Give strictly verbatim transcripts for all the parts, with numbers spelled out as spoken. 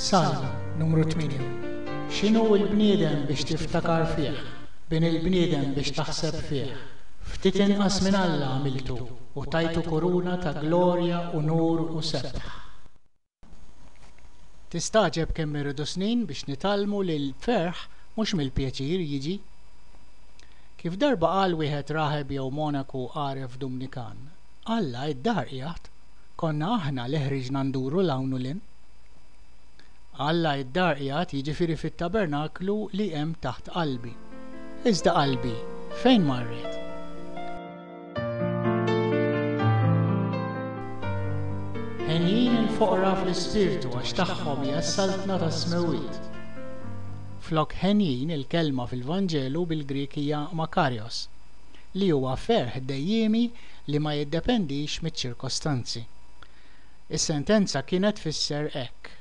Salm numru tmienja. X'inhu l-bniedem biex tiftakar fih, bin il-bniedem biex taħseb fih? Ftit inqas minn Alla għamiltu u tajtu kuruna ta' glorja, unur u sebħ. Tistagħġeb kemm irridu snin biex nitgħallmu li l-ferħ mhux mill-pjaċir jiġi. Kif darba qal wieħed raħeb jew monaku għaref Dumnikan, Alla id-dar qiegħed, konna aħna li ħriġna nduru 'l hawn u 'l hinn. Alla id-dar qiegħed, jiġifieri fit-tabernaklu li hemm taħt qalbi. Iżda qalbi, fejn marret? Henjin il-foqra fl-ispirtu għax tagħhom hija s-saltna tas-smewwiet. Flok henjin, il-kelma fil-Vanġelu bil-Grieg hija makarios, li huwa ferħ dejjiemi li ma jiddependix miċ-ċirkostanzi. Is-sentenza kienet tfisser hekk: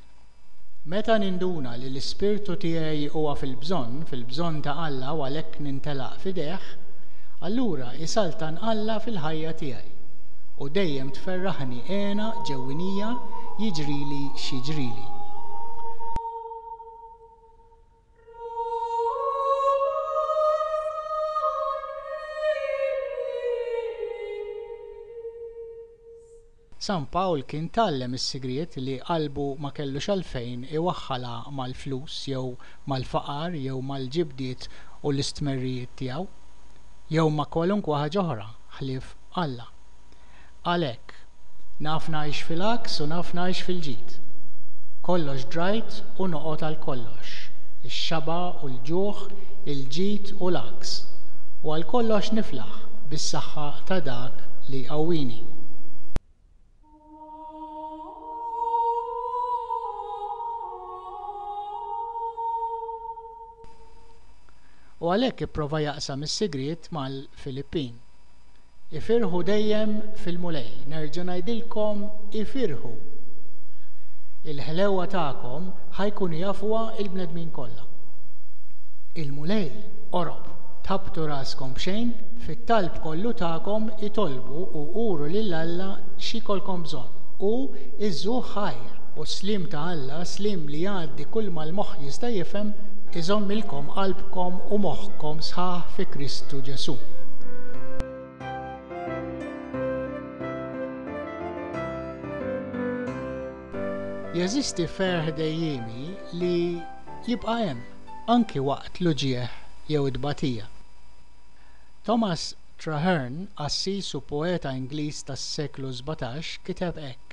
Meta ninduna li l-ispirtu tiegħi huwa fil-bżonn, fil-bżonn ta' Alla u għalhekk nintelaq f'idejh, allura isaltan Alla fil-ħajja tiegħi. U dejjem tferraħni hena ġewwinija jiġrili x'jiġrili. San Pawl kien tgħallem is-sigriet li qalbu ma kellux għalfejn iwaħħalha mal-flus jew mal-faqar jew mal-ġibdiet u l-istmerrijiet tiegħu, jew ma' kwalunkwe ħaġa oħra ħlief Alla. Għalhekk, naf ngħix fil-għaks u naf ngħix fil-ġid. Kollox drajt u noqgħod għal kollox, ix-xaba' u l-ġuħ, il-ġid u l-għaks, u għal kollox niflaħ bis-saħħa ta' dak li jqawwini. U għalhekk ipprova jaqsam is-sigriet mal-Filippin. Ifirħu dejjem fil-Mulej, nerġa' ngħidilkom ifirħu. Il-ħlewa tagħkom ħa jkunu jafuha il-bnedmin kollha. Il-Mulej qorob, tħabbtu raskom b'xejn, fit-talb kollu tagħkom itolbu u uru lil Alla x'ikolkom bżonn u iżżuh ħajr, u s-sliem ta' Alla, sliem li jgħaddi kull ma l-moħħ jista' jifhem, iżommilkom qalbkom u moħħkom sħaħ fi Kristu Ġesù. Jeżisti ferħ dejjiemi li jibqa' hemm anki waqt l-uġigħ jew it-tbatija. Thomas Traherne, qassis u poeta Ingliż tas-seklu sbatax, kiteb hekk: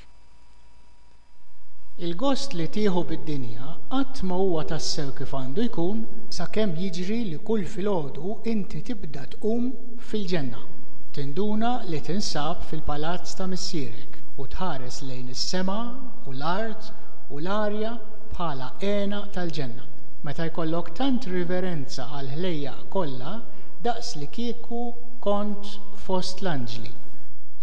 Il-gost li tieħu bid-dinja qatt ma huwa tassew kif għandu jkun sakemm jiġri li kull filgħodu inti tibda tqum fil-ġenna, tinduna li tinsab fil-palazz ta' missierek u tħares lejn is-sema u l-art u l-arja bħala hena tal-ġenna. Meta jkollok tant riverenza għall-ħlejjaq kollha daqs li kieku kont fost l-anġli.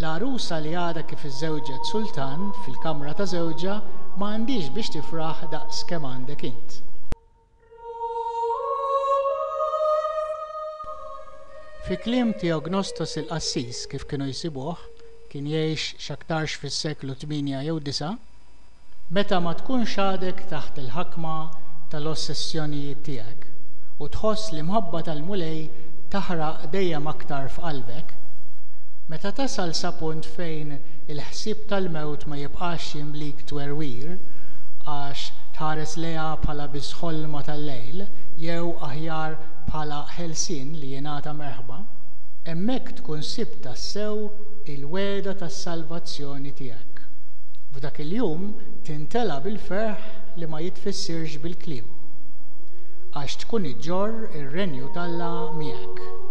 L-għarusa li għadha kif iżżewġet sultan fil-kamra ta' żewġha ma għandhiex biex tifraħ daqs kemm għandek int. Fi kliem Theognostos il-qassis, kif kienu jsibuh, kien jgħix x'aktarx fis-seklu tmienja jew disa', meta ma tkunx għadek taħt il-ħakma tal-ossessjonijiet tiegħek u tħoss l-imħabba tal-Mulej taħraq dejjem aktar f'qalbek, meta tasal sa punt fejn il-ħsieb tal-mewt ma jibqax jimlik twerwir għax tħares lejha bħala biss ħolma tal-lejl jew aħjar bħala ħelsien li jingħata merħba, hemmhekk tkun sibt tassew il-wegħda tas-salvazzjoni tiegħek. F'dak il-jum tintela bil-ferħ li ma jitfissirx bil-kliem, għax tkun iġġorr ir-renju t'Alla miegħek.